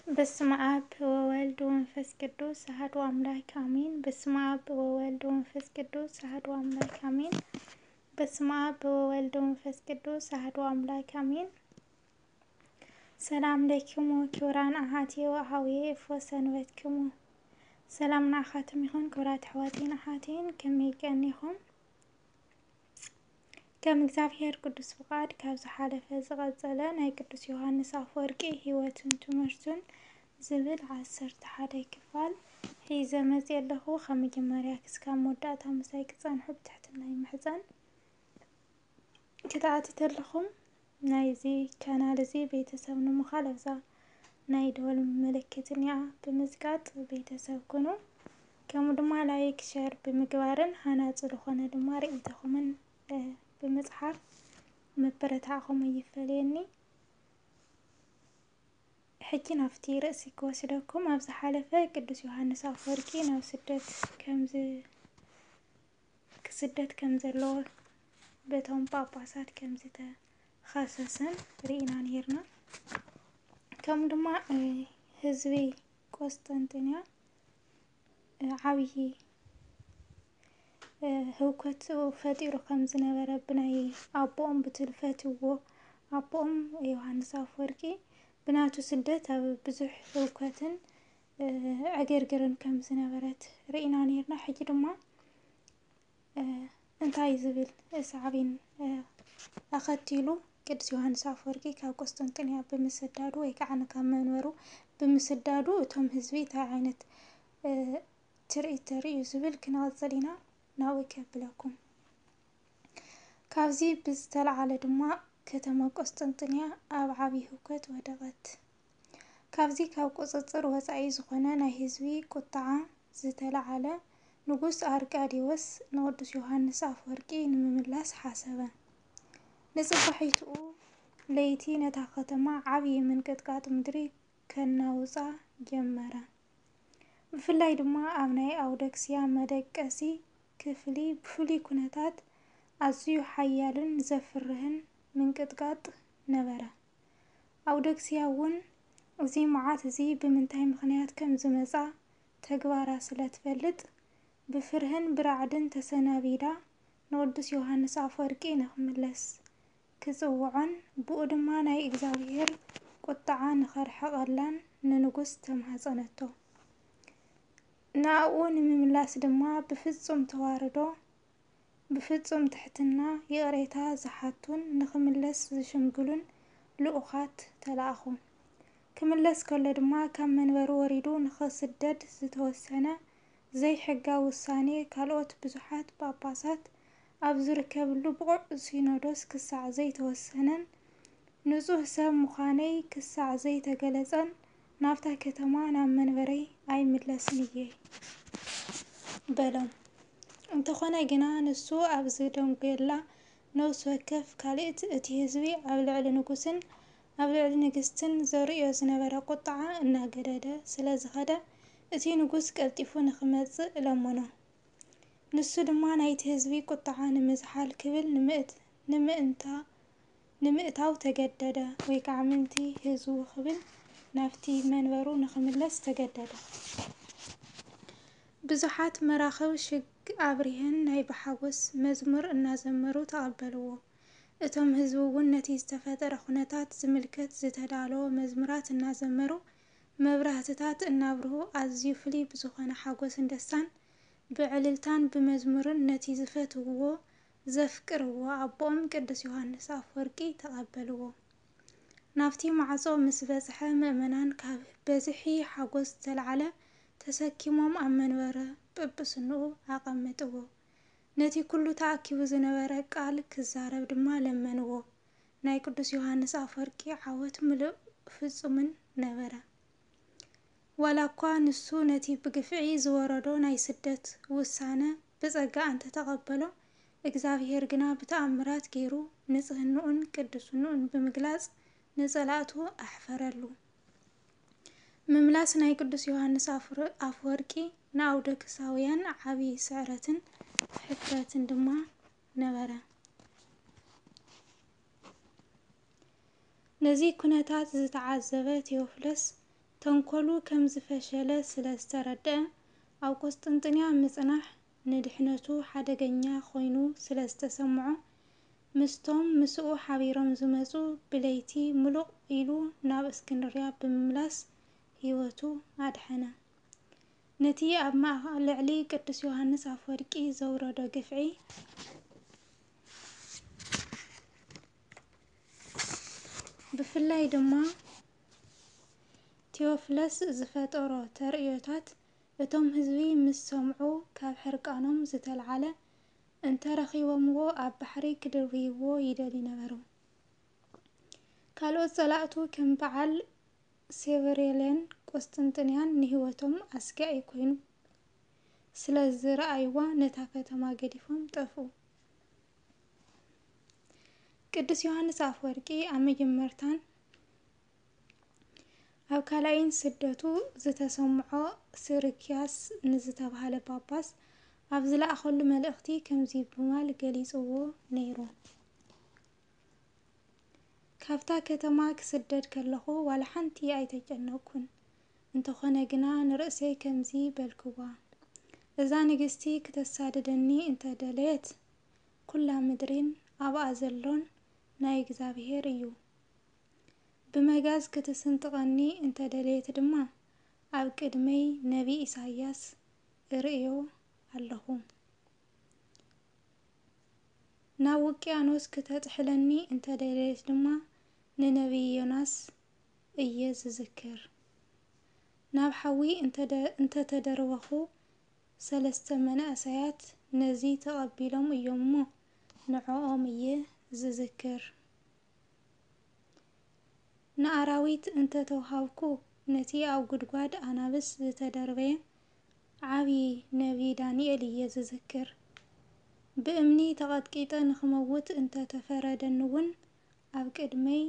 በስመ አብ ወወልድ ወመንፈስ ቅዱስ አሐዱ አምላክ አሜን። በስመ አብ ወወልድ ወመንፈስ ቅዱስ አሐዱ አምላክ አሜን። በስመ አብ ወወልድ ወመንፈስ ቅዱስ አሐዱ አምላክ አሜን። ሰላም ለኪሙ ክቡራን አሐቲ ወአሐውየ፣ እፎ ሰንበትክሙ? ሰላም ንዓኻትም ይኹን ክቡራት ኣሕዋተይን ኣሓተይን፣ ከመይ ቀኒኹም? ከም እግዚኣብሔር ቅዱስ ፍቓድ ካብ ዝሓለፈ ዝቐጸለ ናይ ቅዱስ ዮሃንስ ኣፈወርቂ ህይወቱን ትምህርቱን ዝብል ዓሰርተ ሓደ ክፋል ሒዘ መጽየ ኣለኹ። ካብ መጀመርያ ክስካብ መወዳእታ ምሳይ ክጸንሑ ብትሕትና ይምሕጸን። ክትኣትተለኹም ናይዚ ቻናል እዚ ቤተሰብ ንምዃል ኣብዛ ናይ ደወል ምልክት እኒኣ ብምዝጋጥ ቤተሰብ ኩኑ። ከምኡ ድማ ላይክ፣ ሸር ብምግባርን ሃናጺ ዝኾነ ድማ ርእይቶኹምን፣ እ፣ ብምጽሓፍ ምብርታዕኹም ኣይፈለየኒ። ሕጂ ናብቲ ርእሲ ክወስደኩም። ኣብ ዝሓለፈ ቅዱስ ዮሃንስ ኣፈወርቂ ናብ ስደት ከምዚ-፣ ክስደት ከም ዘለዎ በቶም ጳጳሳት ከም ዝተኸሰሰን ርኢና ነይርና። ከምኡ ድማ፣ እ፣ ህዝቢ ቆስጠንጥንያ፣ እ፣ ዓብዪ፣ እ፣ ህውከት ፈጢሩ ከም ዝነበረ ብናይ ኣቦኦም ብትልፈትዎ ኣቦኦም ዮሃንስ ኣፈወርቂ ብናቱ ስደት ኣብ ብዙሕ ህውከትን፣ እ፣ ዕግርግርን ከም ዝነበረት ርኢና ነይርና። ሕጂ ድማ፣ እ፣ እንታይ ዝብል ሳዕቤን፣ እ፣ ኣኸቲሉ ቅዱስ ዮሃንስ ኣፈወርቂ ካብ ቆስጠንጥንያ ብምስዳዱ ወይ ከዓ ካብ መንበሩ ብምስዳዱ እቶም ህዝቢ እንታይ ዓይነት፣ እ፣ ትርኢት ተርእዩ ዝብል ክንቐጽል ኢና። ናብኡ ከብለኩም። ካብዚ ብዝተለዓለ ድማ ከተማ ቆስጠንጥንያ ኣብ ዓብዪ ህውከት ወደቐት። ካብዚ ካብ ቁጽጽር ወጻኢ ዝኾነ ናይ ህዝቢ ቁጥዓ ዝተለዓለ ንጉስ ኣርቃዲዎስ ንቅዱስ ዮሃንስ ኣፈወርቂ ንምምላስ ሓሰበ። ንጽባሒትኡ ለይቲ ነታ ከተማ ዓብዪ ምንቅጥቃጥ ምድሪ ከናውጻ ጀመረ። ብፍላይ ድማ ኣብ ናይ ኣውደክስያ መደቀሲ ክፍሊ ብፍሉይ ኩነታት ኣዝዩ ሓያልን ዘፍርህን ምንቅጥቃጥ ነበረ። ኣውደክስያ እውን እዚ መዓት እዚ ብምንታይ ምኽንያት ከም ዝመጻ ተግባራ ስለ ትፈልጥ፣ ብፍርህን ብራዕድን ተሰናቢዳ ንቅዱስ ዮሃንስ ኣፈወርቂ ንኽምለስ ክጽውዖን ብኡ ድማ ናይ እግዚኣብሔር ቁጥዓ ንኸርሕቐላን ንንጉስ ተማህጸነቶ። ንኣኡ ንምምላስ ድማ ብፍጹም ተዋርዶ፣ ብፍጹም ትሕትና ይቕሬታ ዝሓቱን ንኽምለስ ዝሽምግሉን ልኡኻት ተላእኹ። ክምለስ ከሎ ድማ ካብ መንበሩ ወሪዱ ንኽስደድ ዝተወሰነ ዘይሕጋዊ ውሳኔ ካልኦት ብዙሓት ጳጳሳት ኣብ ዝርከብሉ ብቑዕ ሲኖዶስ ክሳዕ ዘይተወሰነን ንጹህ ሰብ ምዃነይ ክሳዕ ዘይተገለጸን ናብታ ከተማ ናብ መንበረይ ኣይምለስን እየ በሎም። እንተኾነ ግና ንሱ ኣብ ዝደንጎየላ ነፍሲ ወከፍ ካልእቲ እቲ ህዝቢ ኣብ ልዕሊ ንጉስን ኣብ ልዕሊ ንግስትን ዘርእዮ ዝነበረ ቁጥዓ እናገደደ ስለ ዝኸደ እቲ ንጉስ ቀልጢፉ ንኽመጽእ ለመኖ። ንሱ ድማ ናይቲ ህዝቢ ቁጥዓ ንምዝሓል ክብል ንምእት-፣ ንምእንታ-፣ ንምእታው ተገደደ፣ ወይ ከዓ ምእንቲ ህዝቡ ክብል ናብቲ መንበሩ ንኽምለስ ተገደደ። ብዙሓት መራኽብ ሽግ ኣብሪሀን ናይ ብሓጎስ መዝሙር እናዘመሩ ተቐበልዎ። እቶም ህዝቢ እውን ነቲ ዝተፈጠረ ኩነታት ዝምልከት ዝተዳለወ መዝሙራት እናዘመሩ መብራህትታት እናብርሁ ኣዝዩ ፍሉይ ብዝኾነ ሓጎስን ደስታን ብዕልልታን ብመዝሙርን ነቲ ዝፈትውዎ ዘፍቅርዎ ኣቦኦም ቅዱስ ዮሃንስ ኣፈወርቂ ተቐበልዎ። ናብቲ ማዕጾ ምስ በጽሐ ምእመናን ካብ በዝሒ ሓጎስ ዝተልዓለ ተሰኪሞም ኣብ መንበረ ጵጵስንኡ ኣቐመጥዎ። ነቲ ኩሉ ተኣኪቡ ዝነበረ ቃል ክዛረብ ድማ ለመንዎ። ናይ ቅዱስ ዮሃንስ ኣፈወርቂ ዓወት ምሉእ ፍጹምን ነበረ። ዋላ እኳ ንሱ ነቲ ብግፍዒ ዝወረዶ ናይ ስደት ውሳነ ብጸጋ እንተተቐበሎ፣ እግዚኣብሔር ግና ብተኣምራት ገይሩ ንጽህንኡን ቅድስንኡን ብምግላጽ ንጸላእቱ ኣሕፈረሉ። ምምላስ ናይ ቅዱስ ዮሃንስ ኣፍረ-፣ ኣፍወርቂ ንኣውደክሳውያን ዓቢ ስዕረትን ሕፍረትን ድማ ነበረ። ነዚ ኩነታት ዝተዓዘበ ቴዎፍሎስ ተንኮሉ ከም ዝፈሸለ ስለ ዝተረድአ፣ ኣብ ቁስጥንጥንያ ምጽናሕ ንድሕነቱ ሓደገኛ ኮይኑ ስለ ዝተሰምዖ፣ ምስቶም ምስኡ ሓቢሮም ዝመጹ ብለይቲ ምሉቕ ኢሉ ናብ እስክንድርያ ብምምላስ ህይወቱ ኣድሐነ። ነቲ ኣብ ማእኸ-፣ ልዕሊ ቅዱስ ዮሃንስ ኣፈወርቂ ዘውረዶ ግፍዒ፣ ብፍላይ ድማ ቴዎፍለስ ዝፈጠሮ ተርእዮታት፣ እቶም ህዝቢ ምስ ሰምዑ፣ ካብ ሕርቃኖም ዝተልዓለ እንተረኺቦምዎ ኣብ ባሕሪ ክድርብይዎ ይደልዩ ነበሩ። ካልኦት ጸላእቱ ከም በዓል ሴቨሬልያን ቁስጥንጥንያን ንህይወቶም ኣስጋኢ ኮይኑ ስለ ዝረኣይዋ፣ ነታ ከተማ ገዲፎም ጠፍኡ። ቅዱስ ዮሃንስ ኣፈወርቂ ኣብ መጀመርታን ኣብ ካልኣይን ስደቱ ዝተሰምዖ፣ ስርክያስ ንዝተባህለ ጳጳስ ኣብ ዝለኣኸሉ መልእኽቲ ከምዚ ብምባል ገሊጽዎ ነይሩ። ካብታ ከተማ ክስደድ ከለኹ ዋላ ሓንቲ ኣይተጨነቕኩን። እንተኾነ ግና ንርእሰይ ከምዚ በልክዋ፣ እዛ ንግስቲ ክተሳድደኒ እንተደለየት፣ ኩላ ምድሪን ኣብኣ ዘሎን ናይ እግዚኣብሔር እዩ። ብመጋዝ ክትስንጥቀኒ እንተደለየት ድማ፣ ኣብ ቅድመይ ነቢ ኢሳይያስ እርእዮ ኣለኹ። ናብ ውቅያኖስ ክተጥሕለኒ እንተደለየት ድማ፣ ንነቢ ዮናስ እየ ዝዝክር። ናብ ሓዊ እንተደ-፣ እንተተደርበኹ፣ ሰለስተ መናእሰያት ነዚ ተቐቢሎም እዮም እሞ፣ ንዕኦም እየ ዝዝክር። ንኣራዊት እንተተውሃብኩ፣ ነቲ ኣብ ጉድጓድ ኣናብስ ዝተደርበየ ዓቢ ነቢ ዳንኤል እየ ዝዝክር። ብእምኒ ተቐጥቂጠ ንኽመውት እንተተፈረደኒ እውን፣ ኣብ ቅድመይ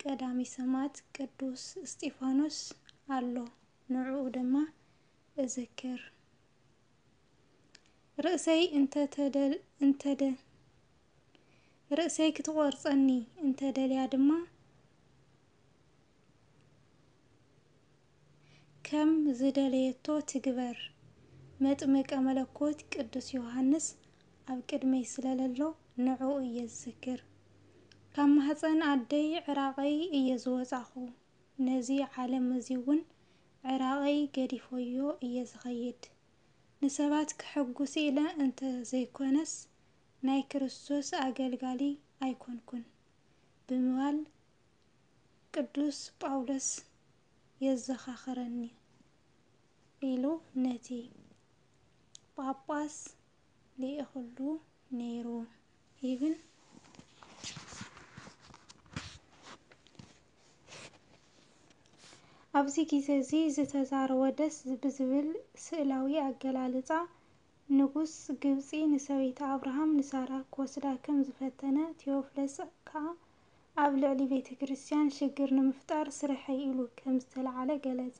ቀዳሚ ሰማዕት ቅዱስ እስጢፋኖስ ኣሎ፣ ንዕኡ ድማ እዝክር። ርእሰይ እንተተደል-፣ እንተደ-፣ ርእሰይ ክትቖርጸኒ እንተደልያ ድማ፣ ከም ዝደለየቶ ትግበር። መጥምቀ መለኮት ቅዱስ ዮሃንስ ኣብ ቅድመይ ስለ ለሎ፣ ንዕኡ እየ ዝዝክር። ካብ ማህጸን ኣደይ ዕራቐይ እየ ዝወጻኹ። ነዚ ዓለም እዚ እውን ዕራቐይ ገዲፎዮ እየ ዝኸይድ። ንሰባት ከሐጉስ ኢለ እንተ ዘይኮነስ፣ ናይ ክርስቶስ ኣገልጋሊ ኣይኮንኩን ብምባል ቅዱስ ጳውሎስ የዘኻኽረኒ ኢሉ ነቲ ጳጳስ ልኢኽሉ ነይሩ ይብል። ኣብዚ ግዜ እዚ ዝተዛረቦ ደስ ብዝብል ስእላዊ ኣገላልጻ፣ ንጉስ ግብጺ ንሰበይቲ ኣብርሃም ንሳራ ክወስዳ ከም ዝፈተነ፣ ቴዎፍለስ ከኣ ኣብ ልዕሊ ቤተ ክርስቲያን ሽግር ንምፍጣር ስርሐይ ኢሉ ከም ዝተለዓለ ገለጸ።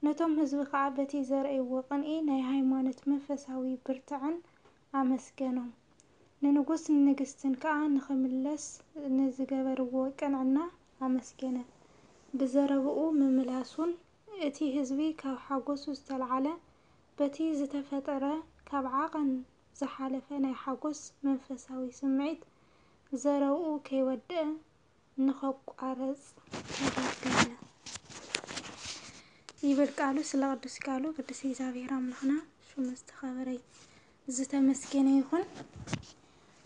ነቶም ህዝቢ ከኣ በቲ ዘርእይዎ ቅንኢ ናይ ሃይማኖት መንፈሳዊ ብርትዐን ኣመስገኖም። ንንጉስ ንንግስትን ከኣ ንኽምለስ ንዝገበርዎ ቅንዕና ኣመስገነ። ብዘረብኡ ምምላሱን እቲ ህዝቢ ካብ ሓጎሱ ዝተለዓለ በቲ ዝተፈጠረ ካብ ዓቐን ዝሓለፈ ናይ ሓጎስ መንፈሳዊ ስምዒት ዘረብኡ ከይወደአ ንኸቋረጽ ተገደደ። ይብል ቃሉ። ስለ ቅዱስ ቃሉ ቅዱስ እግዚኣብሔር ኣምላኽና ሽሙ ዝተኸበረ ዝተመስገነ ይኹን።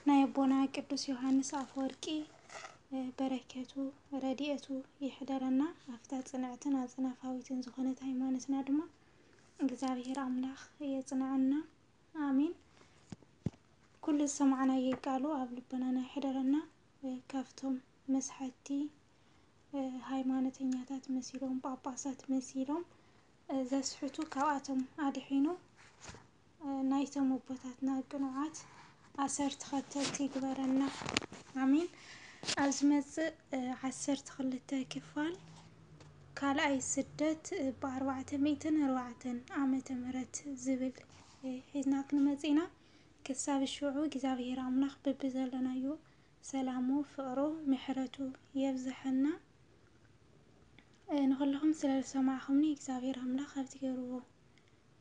ናይ ኣቦና ቅዱስ ዮሃንስ ኣፈወርቂ በረከቱ ረድኤቱ ይሕደረና። ኣብታ ጽንዕትን ኣጽናፋዊትን ዝኾነት ሃይማኖትና ድማ እግዚኣብሔር ኣምላኽ የጽንዐና። ኣሜን። ኩሉ ዝሰማዕናዮ ቃሉ ኣብ ልቦናና ይሕደረና። ካብቶም መስሓቲ ሃይማኖተኛታት መሲሎም፣ ጳጳሳት መሲሎም ዘስሕቱ ካብኣቶም ኣድሒኑ ናይቶም ኣቦታትና ቅኑዓት ኣሰር ተኸተልቲ ይግበረና። ኣሜን። ኣብ ዝመጽእ ዓሰርተ ክልተ ክፋል ካልኣይ ስደት ብኣርባዕተ ሚእትን ኣርባዕተን ዓመተ ምህረት ዝብል ሒዝና ክንመጽእ ኢና። ክሳብ ሽዑ እግዚኣብሔር ኣምላኽ በብዘለናዮ ሰላሙ፣ ፍቕሩ፣ ምሕረቱ የብዝሐልና። ንኹልኹም ስለ ዝሰማዕኹምኒ እግዚኣብሔር ኣምላኽ ኣብ ትገብርዎ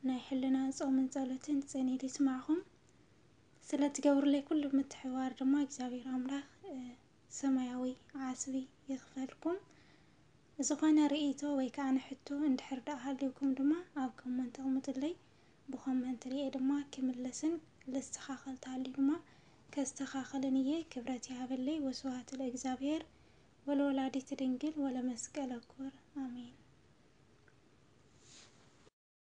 ናይ ሕልና ጾምን ጸሎትን ጽንኢት ይስማዕኹም። ስለ ትገብሩለይ ኩሉ ምትሕብባር ድማ እግዚኣብሔር ኣምላኽ ሰማያዊ ዓስቢ ይኽፈልኩም። ዝኾነ ርእይቶ ወይ ከዓ ንሕቶ እንድሕር ደኣ ሃልዩኩም ድማ ኣብ ኮመንት ኣቕምጡለይ። ብኮመንት ርእየ ድማ ክምለስን ልስተኻኸል ተሃልዩ ድማ ከስተኻኸልን እየ። ክብረት ይሃበለይ። ወስብሐት ለእግዚኣብሔር ወለወላዲት ድንግል ወለመስቀለ ክቡር። ኣሜን።